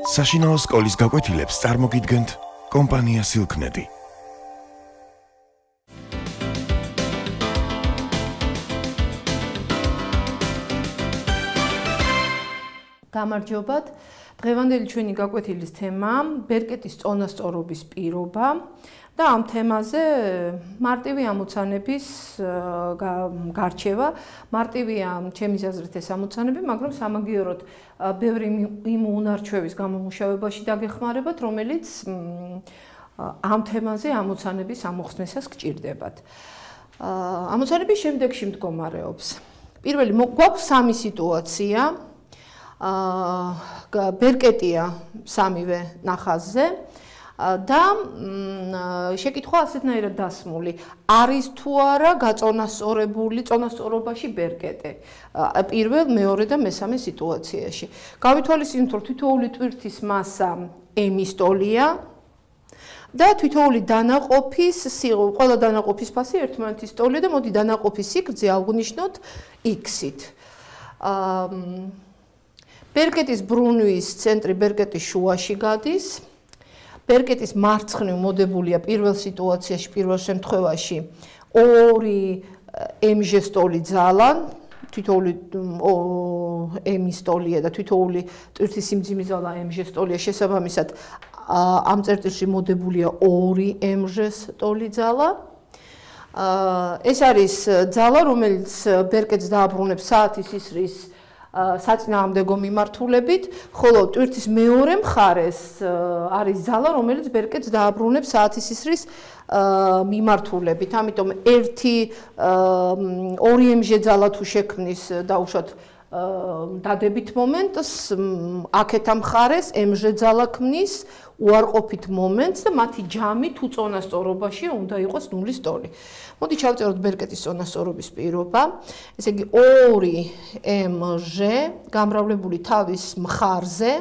საშინაო სკოლის გაკვეთილებს წარმოგიდგენთ კომპანია Silknet. გამარჯობათ. დღევანდელი ჩვენი გაკვეთილის თემაა ბერკეტის წონასწორობის პირობა და ამ თემაზე მარტივი ამოცანების გარჩევა. მარტივია ჩემის აზრით ეს ამოცანები, მაგრამ სამაგიეროდ ბევრი იმ უნარჩვევის გამომუშავებაში დაგეხმარებათ, რომელიც ამ თემაზე ამოცანების ამოხსნისას გჭირდებათ. ამოცანები შემდეგში მდგომარეობს. პირველი გვაქვს სამი სიტუაცია. ბერკეტია სამივე ნახაზზე და შეკითხვა ასეთნაირად დასმული არის თუ არა გაწონასწორებული წონასწორობაში ბერკეტე პირველ, მეორე და მესამე სიტუაციაში. გავითვალისწინოთ, რომ თითოეული ტვირთის მასა m-ის ტოლია და თითოეული დანაყოფის ყველა დანაყოფის ფასი ერთმანეთის ტოლია და მოდი დანაყოფის სიგრძე ავღნიშნოთ x-ით. ბერკეტის ბრუნვის ცენტრი ბერკეტის შუაში გადის. ბერკეტის მარცხნივ მოდებულია პირველ სიტუაციაში, პირველ შემთხვევაში ორი m-ჟე ტოლი ძალა, თითოეული m-ის ტოლია და თითოეული ტვირთის სიმძიმის ძალა m-ჟე ტოლია, შესაბამისად ამ წერტილში მოდებულია ორი m-ჟე ტოლი ძალა. ეს არის ძალა, რომელიც ბერკეტს დააბრუნებს საათის ისრის საწინააღმდეგო მიმართულებით, ხოლო ტვირთის მეორე მხარეს არის ძალა, რომელიც ბერკეტს დააბრუნებს საათის ისრის მიმართულებით. ამიტომ ორი m-ჟე ძალა თუ შექმნის დაუშვათ დადებით მომენტს, აქეთ ამ მხარეს m-ჟე ძალა ქმნის უარყოფით მომენტს და მათი ჯამი თუ წონასწორობაში უნდა იყოს ნულის ტოლი. მოდი ჩავწეროთ ბერკეტის წონასწორობის პირობა. ესე იგი, ორი m-ჟე გამრავლებული თავის მხარზე,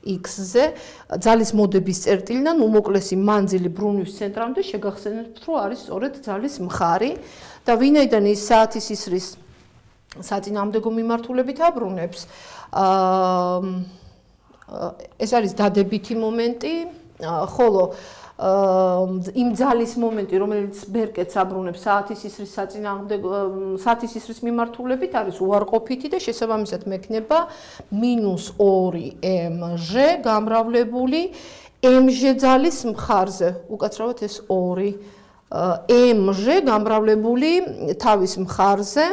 x-ზე, ძალის მოდების წერტილიდან უმოკლესი მანძილი ბრუნვის ცენტრამდე შეგახსენებთ, რომ არის სწორედ ძალის მხარი და ვინაიდან ის საათის ისრის საწინააღმდეგო მიმართულებით აბრუნებს, ეს არის დადებითი მომენტი, ხოლო იმ ძალის მომენტი, რომელიც ბერკეტს აბრუნებს საათის ისრის საათის ისრის მიმართულებით, არის უარყოფითი და შესაბამისად მექნება -2 m-ჟე გამრავლებული m-ჟე ძალის მხარზე. უკაცრავად ეს 2 m-ჟე გამრავლებული თავის მხარზე.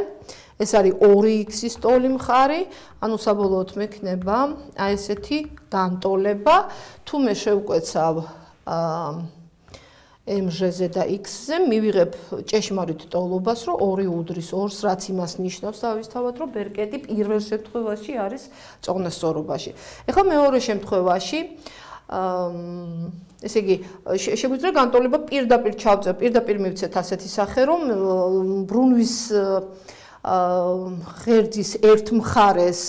ეს არის 2x-ის ტოლი მხარი, ანუ საბოლოოდ მექნება აი ესეთი განტოლება. თუ მე შევკვეცავ m-ჟეზე და x-ზე, მივიღებ ჭეშმარიტ ტოლობას, რომ 2 უდრის 2-ს, რაც იმას ნიშნავს თავისთავად, რომ ბერკეტი პირველ შემთხვევაში არის წონასწორობაში. ეხლა მეორე შემთხვევაში ესე იგი, შეგვიძლია განტოლება პირდაპირ ჩავწერ, პირდაპირ მივცეთ ასეთი სახე, რომ ბრუნვის ღერძის ერთ მხარეს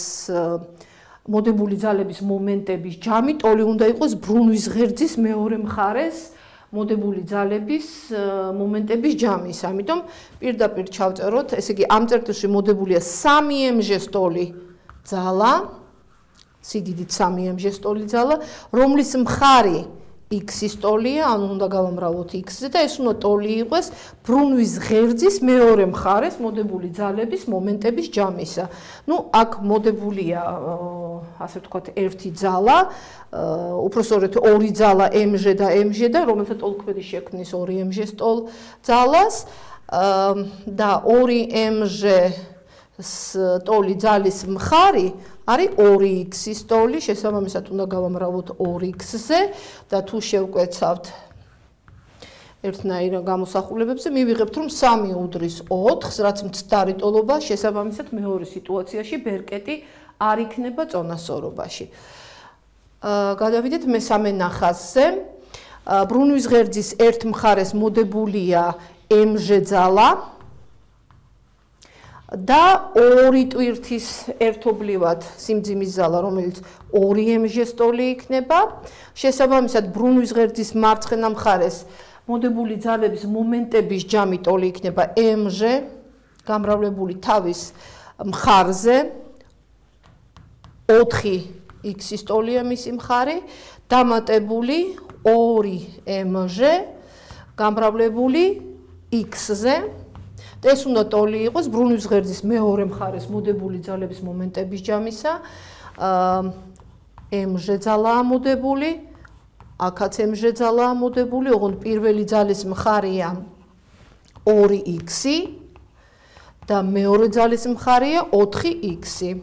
მოდებული ძალების მომენტების ჯამი ტოლი უნდა იყოს ბრუნვის ღერძის მეორე მხარეს მოდებული ძალების მომენტების ჯამის. ამიტომ პირდაპირ ჩავწეროთ, ესე იგი, ამ წერტილში მოდებულია 3 m-ჟე ტოლი ძალა, სიდიდით 3 m-ჟე ტოლი ძალა, რომლის მხარი x-ის ტოლია, ანუ უნდა გავამრავლოთ x-ზე და ეს უნდა ტოლი იყოს ბრუნვის ღერძის მეორე მხარეს მოდებული ძალების მომენტების ჯამისა. ნუ აქ მოდებულია, ასე ვთქვათ, ერთი ძალა, უпростоრეთ ორი ძალა m-ჟე და m-ჟე და რომელსაც ტოლქვედი შექმნის 2 m-ჟე ტოლ ძალას და 2 m-ჟე ტოლი ძალის მხარი არის 2x-ის ტოლი, შესაბამისად უნდა გავამრავლოთ 2x-ზე და თუ შევკვეცავთ ერთნაირ გამოსახულებებზე, მივიღებთ, რომ 3 უდრის 4-ს, რაც მცდარი ტოლობა, შესაბამისად მეორე სიტუაციაში ბერკეტი არ იქნება წონასწორობაში. გადავიდეთ მესამე ნახაზზე. ბრუნვის ღერძის ერთ მხარეს მოდებულია m-ჟე ძალა და ორი ტვირთის ერთობლივად სიმძიმის ზალა, რომელიც 2 m-ჟე ტოლი იქნება. შესაბამისად, ბრუნვის ღერძის მარცხენა მხარეს მოდებული ძალების მომენტების ჯამი ტოლი იქნება m-ჟე გამრავლებული თავის მხარზე 4 x-ის ტოლია მისი მხარი, დამატებული 2mg გამრავლებული x-ზე. და ეს უნდა ტოლი იყოს ბრუნვის ღერძის მეორე მხარეს მოდებული ძალების მომენტების ჯამისა. mg ძალაა მოდებული, აქაც mg ძალაა მოდებული, ოღონდ პირველი ძალის მხარია 2x და მეორე ძალის მხარია 4x.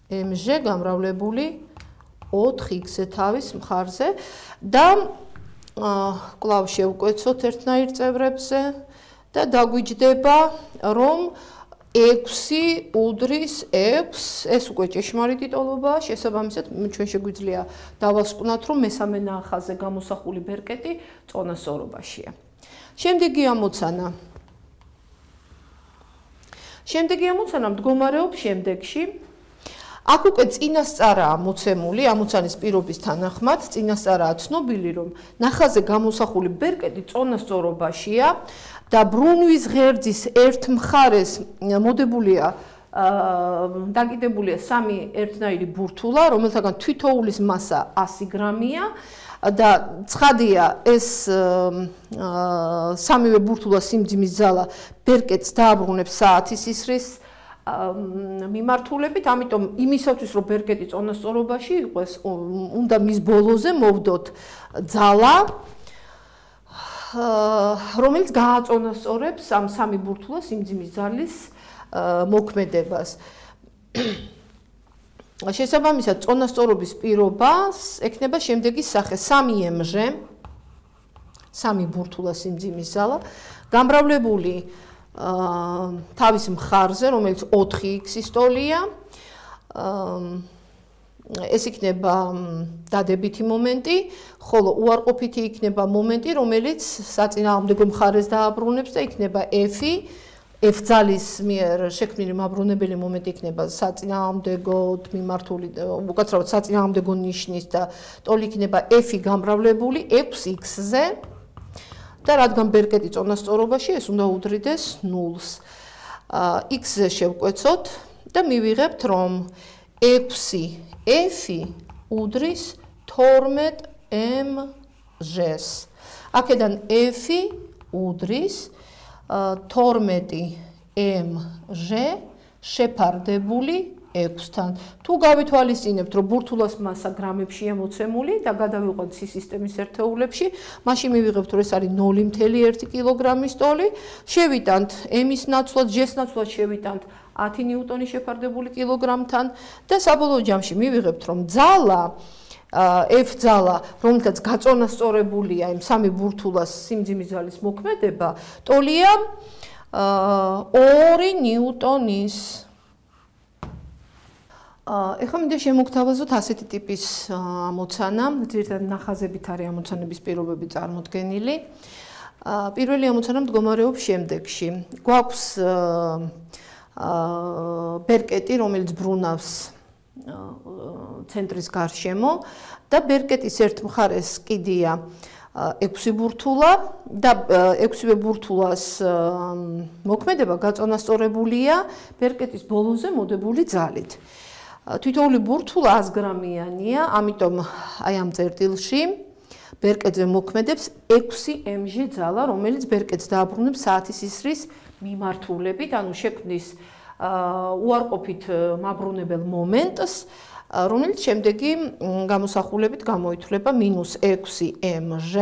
mg გამრავლებული 4x-ზე თავის მხარზე და კვლავ შევკვეცოთ ერთნაირ წევრებზე და დაგვიჯდება, რომ 6 უდრის 6, ეს უკვე ჭეშმარიტი ტოლობაა, შესაბამისად ჩვენ შეგვიძლია დავასკვნათ, რომ მესამე ნახაზზე გამოსახული ბერკეტი წონასწორობაშია. შემდეგი ამოცანა მდგომარეობს შემდეგში. აქ უკვე წინასწარაა მოცემული ამოცანის პირობის თანახმად, წინასწარაა ცნობილი, რომ ნახაზზე გამოსახული ბერკეტი წონასწორობაშია და ბრუნვის ღერძის ერთ მხარეს მოდებულია დაკიდებულია 3 ერთნაირი ბურთულა, რომელთაგან თითოეულის მასა 100 გრამია და ცხადია ეს სამივე ბურთულას სიმძიმის ძალა ბერკეტს დააბრუნებს საათის ისრის მიმართულებით, ამიტომ იმისათვის რომ ბერკეტი წონასწორობაში იყოს, უნდა მის ბოლოზე მოვდოთ ძალა, რომელიც გააწონასწორებს ამ სამი ბურთულას სიმძიმის ძალის მოქმედებას. შესაბამისად, წონასწორობის პირობას ექნება შემდეგი სახე: 3mg, 3 ბურთულას სიმძიმის ძალა, გამრავლებული თავის მხარზე, რომელიც 4x-ის ტოლია, ეს იქნება დადებითი მომენტი, ხოლო უარყოფითი იქნება მომენტი, რომელიც საწინააღმდეგო მხარეს დააბრუნებს და იქნება f ძალის მიერ შექმნილი მაბრუნებელი მომენტი იქნება საწინააღმდეგოდ მიმართული, უკაცრავად საწინააღმდეგო ნიშნის და ტოლი იქნება f გამრავლებული 6x-ზე. და რადგან ბერკეტი წონასწორობაში, ეს უნდა უდრიდეს 0-ს. x-ზე შევკვეცოთ და მივიღებთ, რომ 6f უდრის 12mg-ს. აქედან f უდრის 12mg შეფარდებული 6-თან. თუ გავითვალისწინებთ, რომ ბურთულას მასა გრამებშია მოცემული და გადავიყვანთ სისტემის ერთეულებში, მაშინ მივიღებთ, რომ ეს არის 0.1 კილოგრამის ტოლი. შევიტანთ m-ის ნაცვლად, g-ს ნაცვლად შევიტანთ 10 ნიუტონი შეფარდებული კილოგრამთან და საბოლოო ჯამში მივიღებთ, რომ ძალა f ძალა, რომელთაც გაწონასწორებულია იმ სამი ბურთულას სიმძიმის ძალის მოქმედება, ტოლია 2 ნიუტონის. ეხლა მინდა შემოგთავაზოთ ასეთი ტიპის ამოცანა, ძირითადად ნახაზებით არის ამოცანების პირობები წარმოდგენილი. პირველი ამოცანა მდგომარეობს შემდეგში. გვაქვს ბერკეტი, რომელიც ბრუნავს ცენტრის გარშემო და ბერკეტის ერთ მხარეს კიდია 6 ბურთულა და 6-ვე ბურთულას მოქმედება გაწონასწორებულია ბერკეტის ბოლოზე მოდებული ძალით. თითოეული ბურთულა 100 გრამიანია, ამიტომ აი ამ წერტილში ბერკეტზე მოქმედებს 6mg ძალა, რომელიც ბერკეტს დააბრუნებს საათის ისრის მიმართულებით, ანუ შექმნის უარყოფით მაბრუნებელ მომენტს, რომელიც შემდეგი გამოსახულებით გამოითვლება -6mg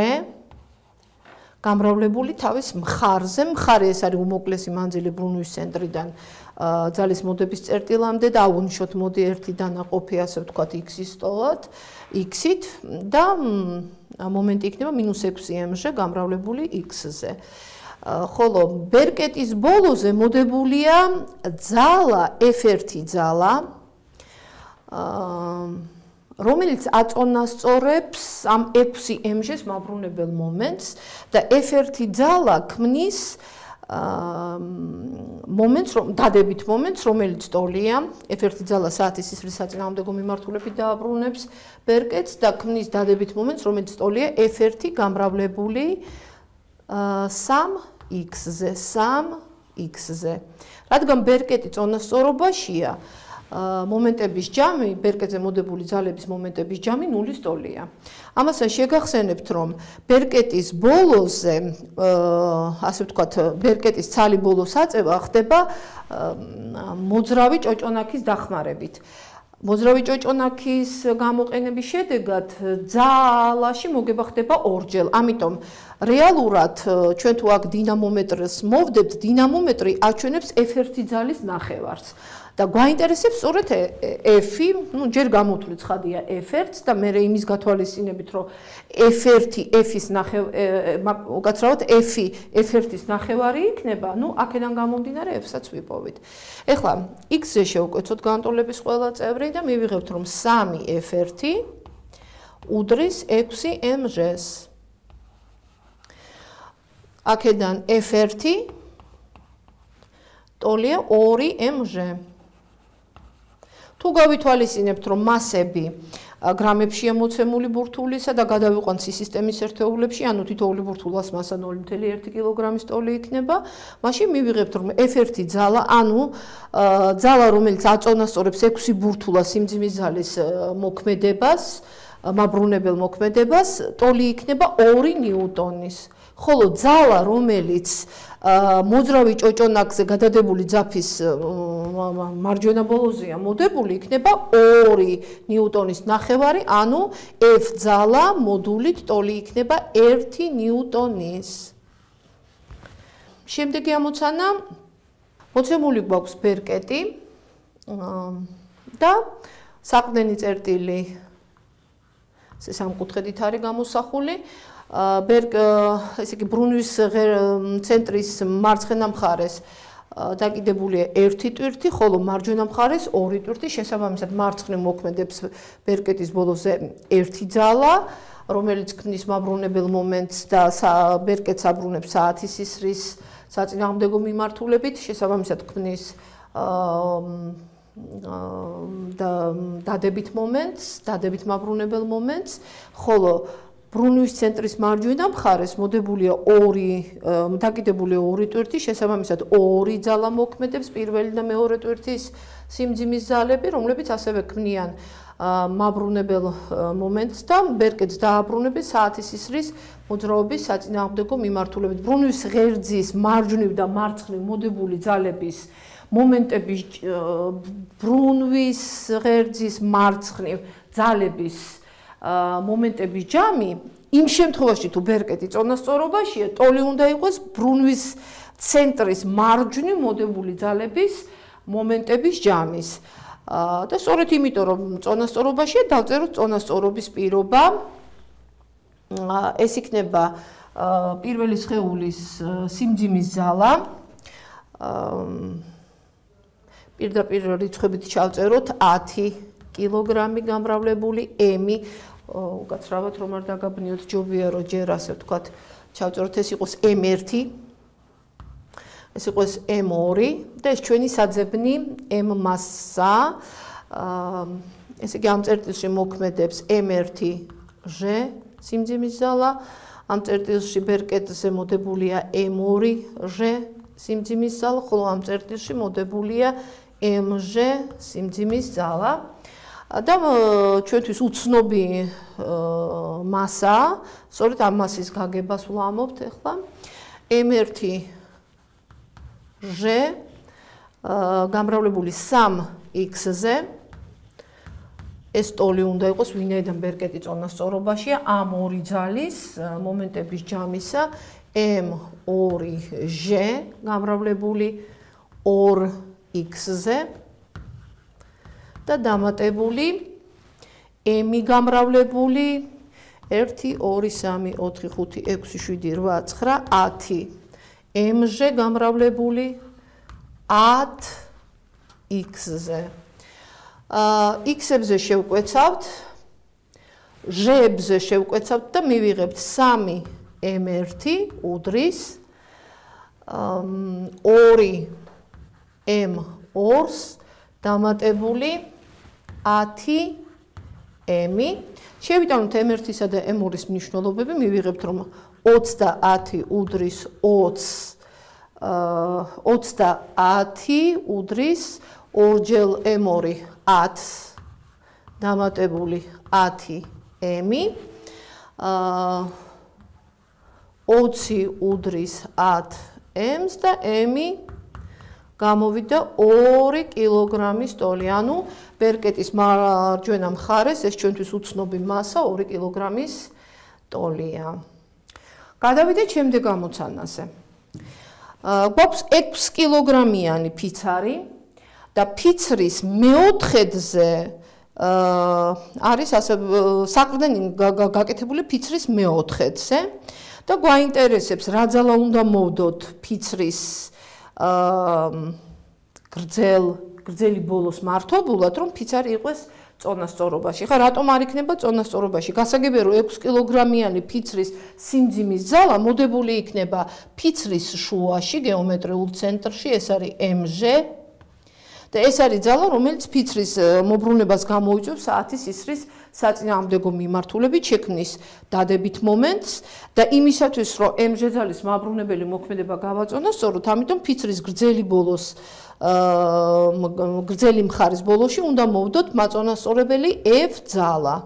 გამრავლებული თავის მხარზე. მხარე ეს არის უმოკლესი მანძილი ბრუნვის ცენტრიდან ძალის მოდების წერტილამდე და აუნიშოთ მოდი ერთი დანაყოფი, ასე ვთქვათ, x-ის ტოლად, x-ით და მომენტი იქნება -6mg გამრავლებული x-ზე. ხოლო ბერკეტის ბოლოზე მოდებულია ძალა f1 ძალა, რომელიც აწონასწორებს ამ 6mg-ს მაბრუნებელ მომენტს და f1 ძალა ქმნის მომენტს, დადებით მომენტს, რომელიც ტოლია, f1 ძალა საათის ისრის საწინააღმდეგო მიმართულებით დააბრუნებს ბერკეტს და ქმნის დადებით მომენტს, რომელიც ტოლია f1 გამრავლებული 3x-ზე, 3x-ზე. რადგან ბერკეტი წონასწორობაშია, მომენტების ჯამი, ბერკეტზე მოდებული ძალების მომენტების ჯამი 0-ის ტოლია. ამასთან შეგახსენებთ, რომ ბერკეტის ბოლოზე, ასე ვთქვათ, ბერკეტის ცალი ბოლოს აწევა ხდება მოძრავი ჭოჭონაქის დახმარებით. მოძრავი ჭოჭონაქის გამოყენების შედეგად ძალაში მოგება ხდება ორჯერ. ამიტომ რეალურად ჩვენ თუ აქ დინამომეტრს მოვდებთ, დინამომეტრი აჩვენებს F1 ძალის ნახევარს. და გვაინტერესებს სწორედ F-ი, ჯერ გამოთვლით ხადია F1 და მე იმის გათვალისწინებით, რომ F1-ის უკაცრავად F-ი F1-ის ნახევარი იქნება, აქედან გამომდინარე F-საც ვიპოვით. ეხლა X-ზე შევკვეცოთ განტოლების ყველა წევრი და მივიღებთ, რომ 3F1 უდრის 6mg-ს. აქედან F1 ტოლია 2mg. თუ გავითვალისწინებთ, რომ მასები გრამებშია მოცემული ბურთულისა და გადავიყვანთ სისტემის ერთეულებში, ანუ თითოეული ბურთულას მასა 0.1 კილოგრამის ტოლი იქნება, მაშინ მივიღებთ, რომ F1 ძალა, ანუ ძალა, რომელიც აწონასწორებს 6 ბურთულას სიმძიმის ძალის მოქმედებას, მაბრუნებელ მოქმედებას, ტოლი იქნება 2 ნიუტონის. ხოლო ძალა, რომელიც მოძრავი ჭოჭონაქზე გადადებული ძაფის მარჯვენა ბოლოზეა მოდებული, იქნება 2 ნიუტონის ნახევარი, ანუ F ძალა მოდულით ტოლი იქნება 1 ნიუტონის. შემდეგი ამოცანა, მოცემული გვაქვს ბერკეტი და საყრდენი წერტილი სამკუთხედით არის გამოსახული. ესე იგი ბრუნვის ცენტრის მარცხენა მხარეს დაკიდებულია 1 ტვირთი, ხოლო მარჯვენა მხარეს 2 ტვირთი, შესაბამისად მარცხნივ მოქმედებს ბერკეტის ბოლოზე 1 ძალა, რომელიც ქმნის მაბრუნებელ მომენტს და ბერკეტს აბრუნებს საათის ისრის საწინააღმდეგო მიმართულებით, შესაბამისად ქმნის დადებით მომენტს, დადებით მაბრუნებელ მომენტს, ხოლო ბრუნვის ცენტრის მარჯვენა მხარეს მოდებულია დაკიდებული 2 ტვირთი, შესაბამისად 2 ძალა მოქმედებს, პირველი და მეორე ტვირთის სიმძიმის ძალები, რომლებიც ასევე ქმნიან მაბრუნებელ მომენტს და ბერკეტს დააბრუნებს საათის ისრის მოძრაობის საწინააღმდეგო მიმართულებით. ბრუნვის ღერძის მარჯვნივ და მარცხნივ მოდებული ძალების მომენტების ბრუნვის ღერძის მარცხნივ ძალების მომენტების ჯამი, იმ შემთხვევაში თუ ბერკეტი წონასწორობაშია, ტოლი უნდა იყოს ბრუნვის ცენტრის მარჯვნივ მოდებული ძალების მომენტების ჯამის. და სწორედ იმიტომ, რომ წონასწორობაშია, დავწეროთ წონასწორობის პირობა. ეს იქნება პირველი სხეულის სიმძიმის ზალა. პირდაპირ რიცხვებით ჩავწეროთ 10 კილოგრამი გამრავლებული M-ი. უკაცრავად რომ არ დაგაბნიოთ, ჯობია რომ ჯერ ასე ვთქვათ, ჩავწეროთ ეს იყოს M1, ეს იყოს M2 და ეს ჩვენი საძებნი M მასა. ესე იგი ამ წერტილში მოქმედებს M1G სიმძიმის ზალა, ამ წერტილში ბერკეტზე მოდებულია M2G სიმძიმის ზალა, ხოლო ამ წერტილში მოდებულია MG სიმძიმის ზალა. და ჩვენთვის უცნობი მასა, სწორედ ამ მასის გაგებას ვლამობთ ახლა. M1G გამრავლებული 3X-ზე ეს ტოლი უნდა იყოს, ვინაიდან ბერკეტი წონასწორობაშია, ამ ორი ძალის მომენტების ჯამისა M2G გამრავლებული 2X-ზე და დამატებული M-ი გამრავლებული 1 2 3 4 5 6 7 8 9 10 MG გამრავლებული 10X-ზე. X-ებზე შევკვეცავთ, Ž-ებზე შევკვეცავთ და მივიღებთ 3 M1 უდრის 2 M2-ს დამატებული 10 M-ი. შევიტანოთ M1-ისა და M2-ის მნიშვნელობები, მივიღებთ რომ 30 უდრის 20 უდრის ორჯერ m2 10 დამატებული 10 m 20 უდრის 10 m-ს და m გამოვიდა 2 კილოგრამის ტოლი. ანუ ბერკეტის მარჯვენა მხარეს ეს ჩვენთვის უცნობი მასა 2 კილოგრამის ტოლია. გადავიდეთ შემდეგ ამოცანაზე. გვაქვს 6 კილოგრამიანი ფიცარი და ფიცრის მეოთხედზე არის ასე საყრდენი გაკეთებული ფიცრის მეოთხედზე და გვაინტერესებს რა ძალა უნდა მოვდოთ ფიცრის გრძელი ბოლოს მართობულად, რომ ფიცარი იყოს წონასწორობაში. ხა რატომ არ იქნება წონასწორობაში? გასაგებია რომ 6 კილოგრამიანი ფიცრის სიმძიმის ძალა მოდებული იქნება ფიცრის შუაში, გეომეტრიულ ცენტრში, ეს არის mg და ეს არის ძალა, რომელიც ფიცრის მობრუნებას გამოიწვევს საათის ისრის საწინააღმდეგო მიმართულებით შექმნის დადებით მომენტს და იმისათვის, რომ mg ძალის მაბრუნებელი მოქმედება გავაწონასწოროთ, ამიტომ ფიცრის გრძელი მხარის ბოლოში უნდა მოვდოთ მაწონასწორებელი f ძალა.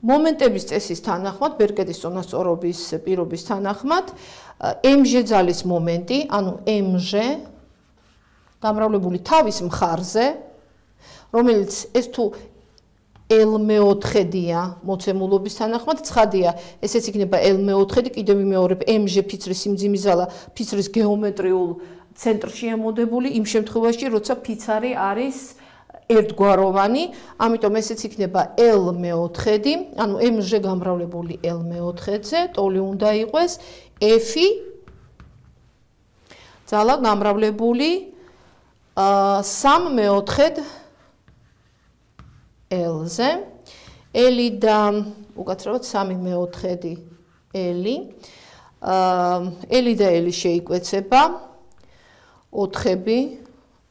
მომენტების წესის თანახმად, ბერკეტის წონასწორობის პირობის თანახმად, mg ძალის მომენტი, ანუ mg გამრავლებული თავის მხარზე, რომელიც ეს თუ L4-დია მოცემულობის თანახმად, ცხადია, ესეც იქნება L4, კიდევ ვიმეორებ, mg ფიცრის სიმძიმის ძალა ფიცრის გეომეტრიულ ცენტრშია მოდებული, იმ შემთხვევაში, როცა ფიცარი არის ერთგვაროვანი, ამიტომ ესეც იქნება L4, ანუ mg გამრავლებული L4-ზე, ტოლი უნდა იყოს f ძალა გამრავლებული 3/4 L-ზე, L და უკაცრავად 3/4 L, L და L შეიკვეცება, 4-ები,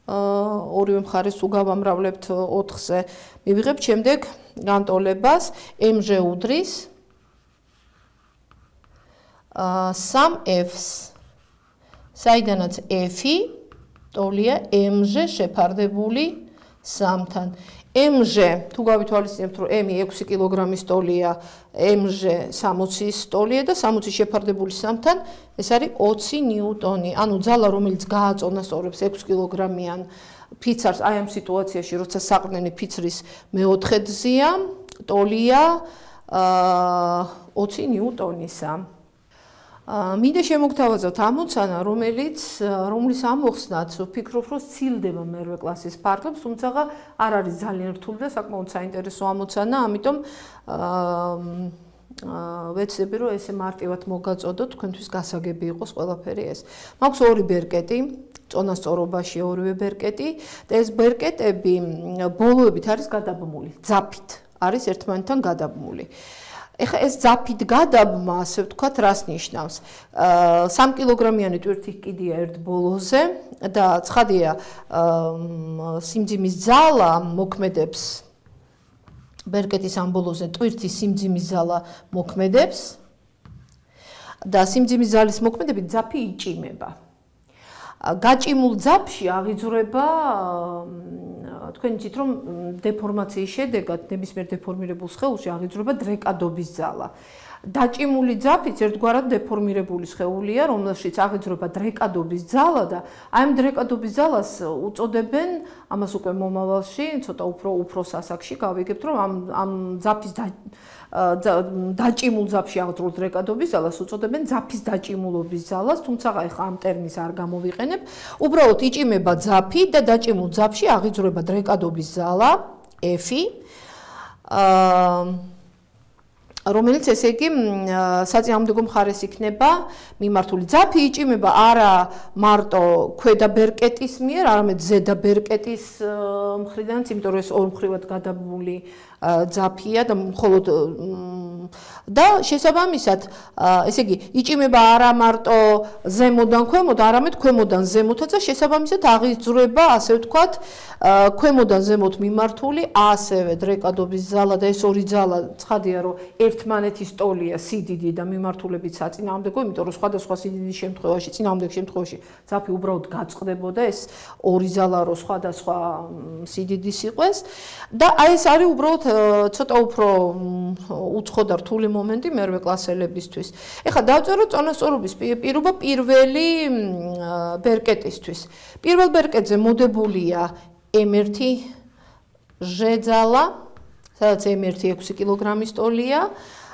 ორივე მხარეს თუ გავამრავლებთ 4-ზე, მივიღებთ შემდეგ განტოლებას mg უდრის 3f-ს, საიდანაც f-ი ტოლია mg შეფარდებული 3-თან. mg თუ გავითვალისწინებთ, რომ m 6 კილოგრამის ტოლია, mg 60-ის ტოლია და 60-ის შეფარდებული 3-თან, ეს არის 20 ნიუტონი. ანუ ძალა, რომელიც გააწონასწორებს 6 კილოგრამიან ფიცარს, აი ამ სიტუაციაში, როცა საყრდენი ფიცრის მეოთხედზეა, ტოლია 20 ნიუტონისა. მინდა შემოგთავაზოთ ამოცანა, რომლის ამოხსნაც ვფიქრობ, რომ სცილდება მერვე კლასის ფარგლებს, თუმცა არ არის ძალიან რთული და საკმაოდ საინტერესო ამოცანა, ამიტომ ვეცდები, რომ ესე მარტივად მოგაწოდოთ, თქვენთვის გასაგები იყოს ყველაფერი ეს. მაქვს 2 ბერკეტი, წონასწორობაში ორივე ბერკეტი და ეს ბერკეტები ბოლოებით არის გადაბმული, ძაფით არის ერთმანეთთან გადაბმული. ეხლა ეს ძაფით გადაბმა, ასე ვთქვათ, რას ნიშნავს? 3 კილოგრამიანი ტვირთი კიდია ერთ ბოლოზე და ცხადია, სიმძიმის ძალა მოქმედებს ბერკეტის ამ ბოლოზე, ტვირთის სიმძიმის ძალა მოქმედებს და სიმძიმის ძალის მოქმედებით ძაფი იჭიმება. გაჭიმულ ძაფში აღიძვრება, თქვენ იცით, რომ დეფორმაციის შედეგად ნებისმიერ დეფორმირებულ სხეულში აღიძვრება დრეკადობის ძალა. დაჭიმული ძაფიც ერთგვარად დეფორმირებული სხეულია, რომელშიც აღიძვრება დრეკადობის ძალა და აი ამ დრეკადობის ძალას უწოდებენ, ამას უკვე მომავალში, ცოტა უფრო სასაგში გავიგებთ, რომ ამ ძაფის დაჭიმულ ძაფში აღძრულ დრეკადობის ძალას უწოდებენ ძაფის დაჭიმულობის ძალას, თუმცა ახლა ამ ტერმინს არ გამოვიყენებ. უბრალოდ იჭიმება ძაფი და დაჭიმულ ძაფში აღიძვრება დრეკადობის ძალა F-ი, რომელიც ესე იგი საწინააღმდეგო მხარეს იქნება მიმართული. ძაფი იჭიმება არა მარტო ქვედა ბერკეტის მიერ, არამედ ზედა ბერკეტის მხრიდანაც, იმიტომ რომ ეს ორმხრივად გადაბმული ძაფია და მხოლოდ და შესაბამისად, ესე იგი, იჭიმება არა მარტო ზემოდან ქვემოთ, არამედ ქვემოდან ზემოთაც და შესაბამისად აღიძვრება, ასე ვთქვათ, ქვემოდან ზემოთ მიმართული ასევე დრეკადობის ძალა და ეს ორი ძალა ცხადია, რომ ერთ ერთმანეთის ტოლია სიდიდი და მიმართულებით საწინააღმდეგო, იმიტომ რომ სხვადასხვა სიდიდის შემთხვევაში, წინააღმდეგ შემთხვევაში ძაფი უბრალოდ გაწყდებოდა, ეს ორი ზალა რო სხვადასხვა სიდიდის იყვეს და აი ეს არის უბრალოდ ცოტა უფრო უცხო და რთული მომენტი მერვე კლასელებისთვის. ეხლა დავწეროთ წონასწორობის პირობა პირველი ბერკეტისთვის. პირველ ბერკეტზე მოდებულია M1 ჟ-ძალა, სადაც M1 6 კილოგრამის ტოლია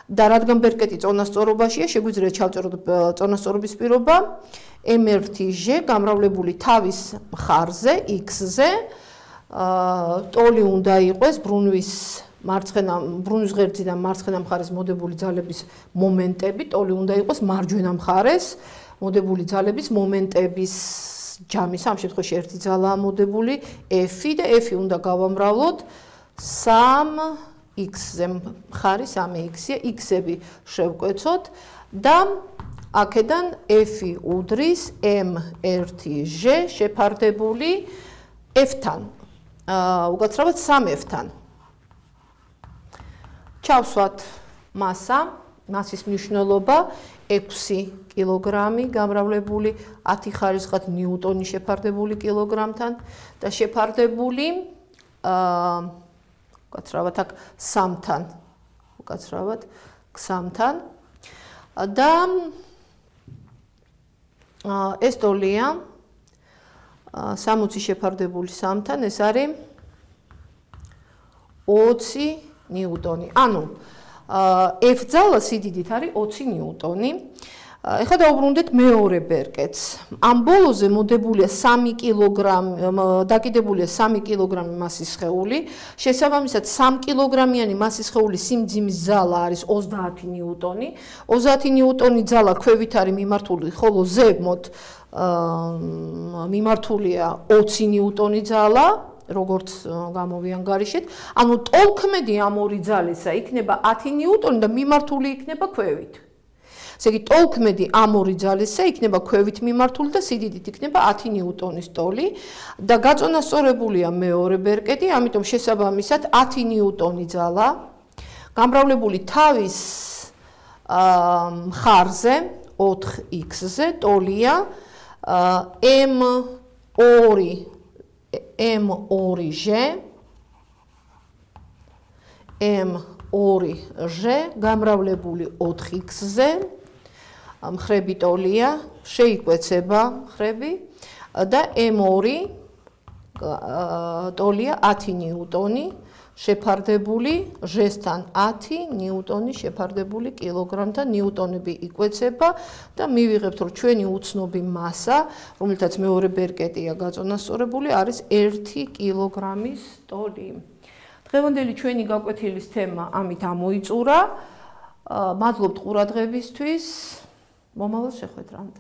და რადგან ბერკეტი წონასწორობაშია, შეგვიძლია ჩავწეროთ წონასწორობის პირობა M1 ჟ გამრავლებული თავის მხარზე X-ზე, ტოლი უნდა იყოს ბრუნვის ღერძიდან მარცხენა მხარეს მოდებული ძალების მომენტები, ტოლი უნდა იყოს მარჯვენა მხარეს მოდებული ძალების მომენტების ჯამის, ამ შემთხვევაში ერთი ძალაა მოდებული F და F უნდა გავამრავლოთ 3x-ზე მხარი 3x-ია, x-ები შევკვეცოთ და აქედან F უდრის M1Ž შეფარდებული F-თან, უკაცრავად 3F-თან. ჩავსვათ მასის მნიშვნელობა 6 კილოგრამი გამრავლებული 10 ხარისხად ნიუტონი შეფარდებული კილოგრამთან და შეფარდებული უკაცრავად აქ 3-თან, უკაცრავად 3-თან და ეს ტოლია 60 შეფარდებული 3-თან, ეს არის 20 ნიუტონი. ანუ F ძალა სიდიდით არის 20 ნიუტონი. ეხლა დავუბრუნდეთ მეორე ბერკეტს. ამ ბოლოზე მოდებულია 3 კილოგრამი, დაკიდებულია 3 კილოგრამი მასის სხეული. შესაბამისად 3 კილოგრამიანი მასის სხეულის სიმძიმის ძალა არის 30 ნიუტონი. 30 ნიუტონი ძალა ქვევით არის მიმართული, ხოლო ზემოთ მიმართულია 20 ნიუტონი ძალა. როგორც გამოვიანგარიშეთ, ანუ ტოლქმედი ამ ორი ძალისა იქნება 10 ნიუტონი და მიმართული იქნება ქვევით. ესე იგი, ტოლქმედი ამ ორი ძალისა იქნება ქვევით მიმართული და სიდიდით იქნება 10 ნიუტონის ტოლი და გაწონასწორებულია მეორე ბერკეტი, ამიტომ შესაბამისად 10 ნიუტონი ძალა გამრავლებული თავის მხარზე 4x-ზე ტოლია M2Ž გამრავლებული 4x-ზე მხრები ტოლია, შეიკვეცება მხრები და M2 ტოლია 10 ნიუტონი შეფარდებული ჟ-თან 10 ნიუტონი შეფარდებული კილოგრამთან, ნიუტონები იკვეცება და მივიღებთ, რომ ჩვენი უცნობი მასა, რომელთაც მეორე ბერკეტია გაწონასწორებული, არის 1 კილოგრამის ტოლი. დღევანდელი ჩვენი გაკვეთილის თემა ამით ამოიწურა. მადლობთ ყურადღებისთვის. მომავალ შეხვედრამდე.